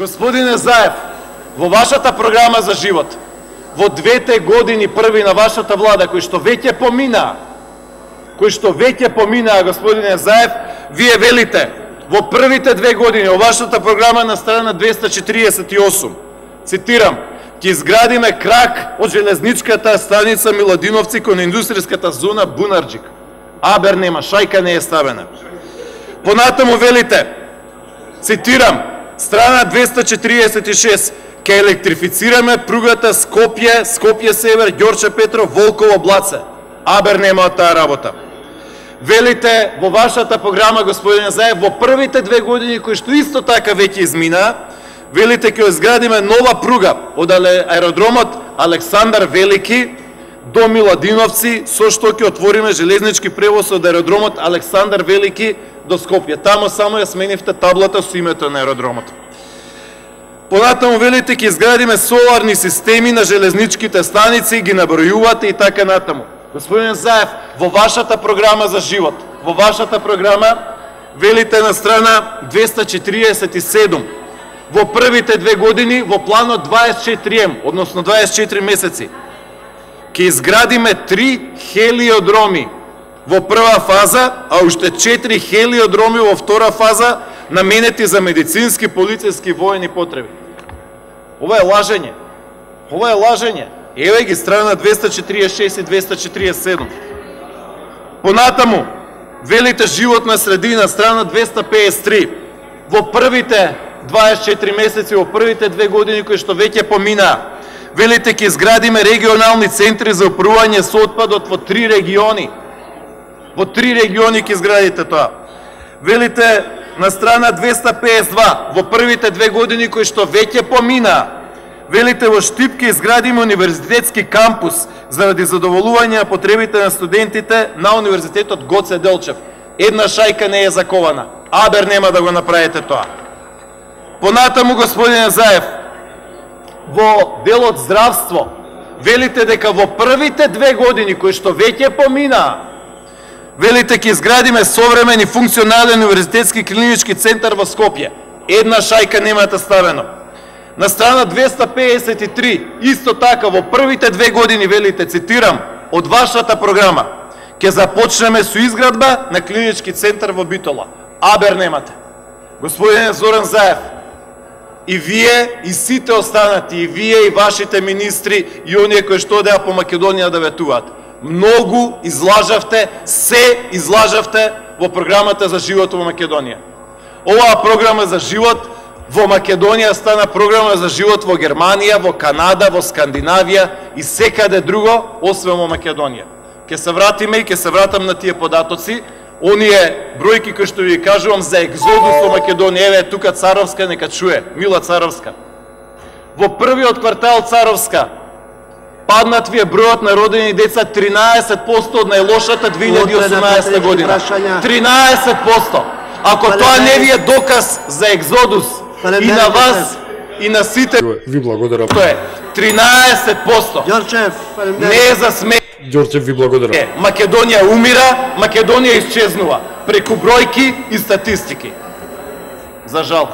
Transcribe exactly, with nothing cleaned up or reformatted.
Господине Заев, во вашата програма за живот, во двете години први на вашата влада, кои што веќе поминаа, кои што веќе поминаа, господине Заев, вие велите, во првите две години, во вашата програма на страна двеста четириесет и осум, цитирам, ќе изградиме крак од железничката станица Миладиновци кон индустријската зона Бунарџик. Абер нема, шајка не е ставена. Понатаму велите, цитирам, страна двеста четириесет и шест, ќе електрифицираме пругата Скопје, Скопје Север, Ѓорче Петров, Волково Блаце. Абер нема од таа работа. Велите во вашата програма, господине Заев, во првите две години, кои што исто така веќе изминаа, велите ќе изградиме нова пруга од аеродромот Александар Велики до Миладиновци, со што ќе отвориме железнички превоз од аеродромот Александар Велики до Скопје. Тамо само ја сменивте таблата со името на аеродромот. Понатаму велите ќе изградиме соларни системи на железничките станици, ги набројувате и така натаму. Господин Заев, во вашата програма за живот, во вашата програма велите на страна двеста четириесет и седум, во првите две години во планот дваесет и четири ем, односно дваесет и четири месеци, ќе изградиме три хелиодроми во прва фаза, а уште четири хелиодроми во втора фаза, наменети за медицински, полициски и воени потреби. Ова е лажење. Ова е лажење. Еве ги страна двеста четириесет и шест и двеста четириесет и седум. Понатаму, велите животна средина, страна двеста пеесет и три. Во првите дваесет и четири месеци, во првите две години кои што веќе поминаа, велите ќе изградиме регионални центри за управување со отпадот во три региони. Во три региони ќе изградите тоа. Велите на страна двеста пеесет и два, во првите две години кои што веќе поминаа, велите во Штип ќе изградиме универзитетски кампус заради задоволување на потребите на студентите на Универзитетот Гоце Делчев. Една шајка не е закована. Абер нема да го направите тоа. Понатаму, господине Заев, во делот здравство, велите дека во првите две години кои што веќе поминаа, велите ќе изградиме современ и функционален универзитетски клинички центар во Скопје. Една шајка немате ставено. На страна двеста пеесет и три, исто така, во првите две години велите, цитирам, од вашата програма, ќе започнеме со изградба на клинички центар во Битола. Абер немате. Господине Зоран Заев, и вие, и сите останати, и вие, и вашите министри, и оние кои што одеа по Македонија да ветуваат, многу излажавте, се излажавте во програмата за живот во Македонија. Оваа програма за живот во Македонија стана програма за живот во Германија, во Канада, во Скандинавија и секаде друго, освен во Македонија. Ке се вратиме и ке се вратам на тие податоци, оние бројки кои што ви кажувам за екзодус во Македонија. Еве тука Царовска, нека чуе, Мила Царовска. Во првиот квартал Царовска паднат ви е бројот на родени деца тринаесет проценти од најлошата две илјади и осумнаесета година. тринаесет проценти. Ако тоа не ви е доказ за екзодус и на вас, и на сите, ви благодарам. Тоа е тринаесет проценти. Ѓорчев, не е за смех. Ѓорчев, ви благодарам. Македонија умира, Македонија исчезнува преку бројки и статистики. За жал.